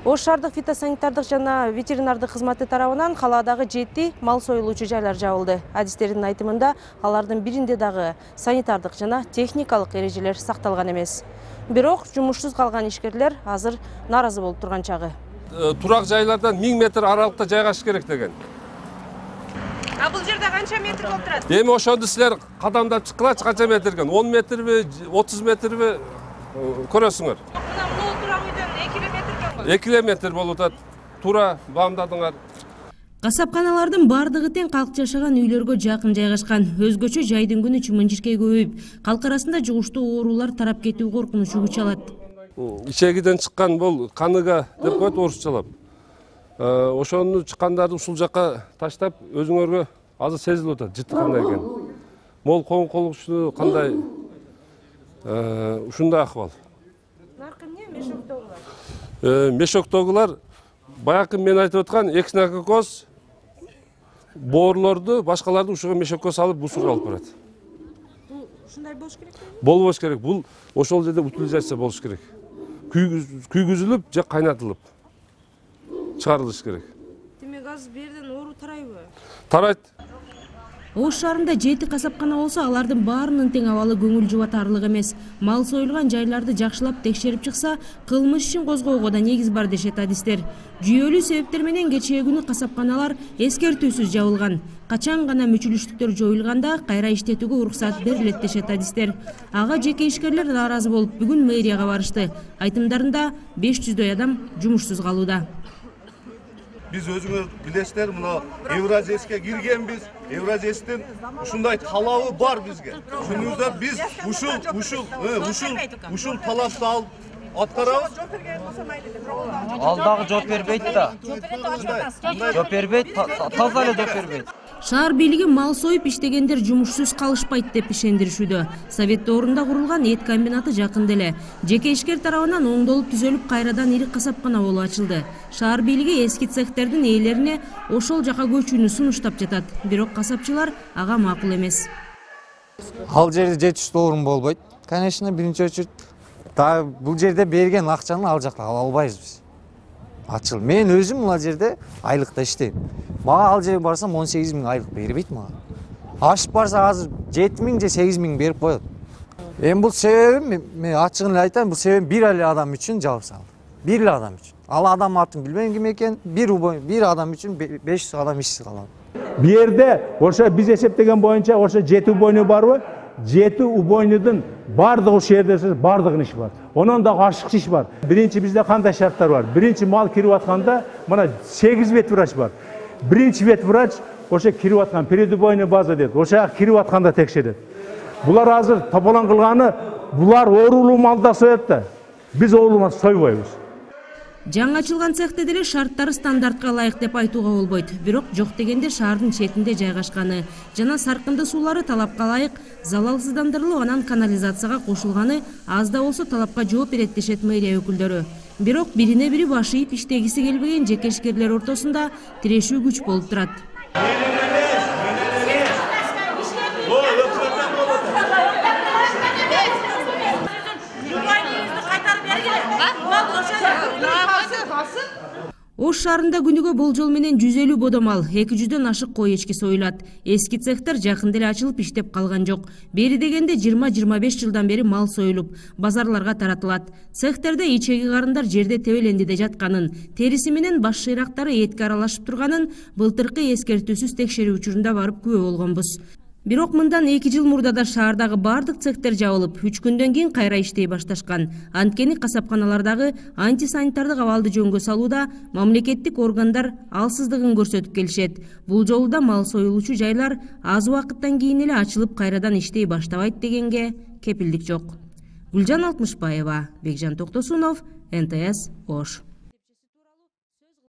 Ош шаардык фитосанитардык жана ветеринардык кызматы тарабынан калаадагы 7 мал союлуучу жайлар жабылды. Адистердин айтымында алардын биринде дагы санитардык жана техникалык эрежелер сакталган эмес. Бирок жумушсуз калган ишкерлер азыр нааразы болуп турган чагы. Турак жайлардан 1000 метр аралыкта жайгашыш керек деген. Бул жерде канча метр болуп турат? Эми ошондо силер кадамдап чыккылачы канча метрген? 10 метрби, 30 метрби көрөсүңөр. 2 километр болуп атат. Тура баамдадыңар. Касапканалардын бардыгы тең калк жашаган үйлөргө жакын жайгашкан. Өзгөчө жайдын күнү чымын-чиркей көбөйүп, калк арасында жугуштуу оорулар тарап кетүү коркунучу күч алат. Ичегиден чыккан бул каныга деп коет орусчалап. Ошону чыккандарды ушул жака таштап, өзүңөргө азыр сезилип атат жыты кандай экен. Мол коңколуктуу кандай ушундай акыбал. Наркы эмне? Мешоктогулар? Мешоктогулар баягы мен айтып аткан экснококоз боорлорду, башкаларды ушуга мешокко салып бусурга алып барат. Бул ушундай болуш керекпи? Болбош керек. Бул ошол жерде утилизация болуш керек. Күйгүзүлүп же кайнатылып чыгарылыш керек. Демек азыр берден оору тарайбы? Тарайт. Ош шаарында 7 касапкана болсо, алардын баарынын тең абалы көңүл жубатарлык эмес. Мал союлган жайларды жакшылап текшерип чыкса, кылмыш ишин козгоого да негиз бар дешет адистер. Жүйөлүү себептер менен кечээ күнү касапканалар эскертүүсүз жабылган. Качан гана мүчүлүштүктөр жоюлганда кайра иштетүүгө уруксат берилет дешет адистер. Ага жеке ишкерлер нааразы болуп, бүгүн мэрияга барышты. Айтымдарында 500дөй адам жумушсуз калууда. Biz özüңөр билесиздер, мына Евразияске киргенбиз. Евразиястын ушундай талабы бар бизге. Шунузда биз ушул талапты алып аткарабыз. Алдагы жооп бербейт да. Жооп бербейт, таза эле жооп бербейт. Шаар бийлиги мал союп иштегендер жумушсуз калышпайт деп ишендиришүүдө. Совет доорунда курулган эт комбинаты жакында эле жеке ишкер тарабынан оңдолуп түзөлүп кайрадан ири касапкана болуп ачылды. Шаар бийлиги эски цехтердин ээлерине ошол жака көчүүнү сунуштап жатат. Бирок касапчылар ага макул эмес. Ал жерде жетиштүү орун болбойт. Конечно, биринчи очередь бул жерде берген акчаны ал жакта ала албайбыз биз. Ачыл. Мен өзүм мына жерде айлыкта иштейм. Мага ал жерге барсам 18 000 айлык бербейт мага. Ашып барса азыр 7 000 же 8 000 берип коет. Эми бул себебим, мен ачыгын эле айтайын, бул себебим бир эле адам үчүн жабып салды. Бир эле адам үчүн. Ал адам атын билбейм ким экен, бир адам үчүн 500 адам ишсиз калат. Бу жерде ошо биз эсептеген боюнча ошо 7 убойну барбы? 7 убойнудун бардыгы ушул жерде бардыгынын иши бар. Онон дагы ашыкчы иш бар. Биринчи бизде кандай шарттар бар? Биринчи мал кирип атканда мына 8 ветврач бар. Биринчи ветврач ошо кирип аткан предубойный база дейт. Ошо кирип атканда текшерет. Булар азыр тополон кылганы, булар оорулуу малда соет да. Биз оорулуу мал сойбойбуз. Жаңы ачылган цехте деле шарттары стандартка ылайык деп айтууга болбойт. Бирок жок дегенде шаардын четинде жайгашканы жана саркынды суулары талапка ылайык залалсыздандырылып, анан канализацияга кошулганы аз да болсо талапка жооп берет дешет мэрия өкүлдөрү. Бирок бирине бири баш ийип иштегиси келбеген жеке ишкерлер ортосунда тирешүү күч болуп турат. Ош шаарында күнүгө болжол менен 150 бодо мал, 200дөн ашык кой эчки союлат. Эски цехтер жакында эле ачылып иштеп калган жок. Бери дегенде 20-25 жылдан бери мал союлуп, базарларга таратылат. Цехтерде ичеги карындар жерде тебелендиде жатканын, териси менен баш шыйрактары этке аралашып турганын былтыркы эскертүүсүз текшерүү учурунда барып күбө болгонбуз. Бирок мындан 2 жыл мурда да шаардагы бардык цехтер жабылып, 3 күндөн кийин кайра иштей башташкан. Анткени касапканалардагы антисанитардык абалды жөнгө салууда мамлекеттик органдар алсыздыгын көрсөтүп келишет. Бул жолу да мал союлуучу жайлар аз убакыттан кийин эле ачылып кайрадан иштей баштабайт дегенге кепилдик жок. Гүлжан Алтмышбаева, Бекжан Токтосунов, НТС Ош.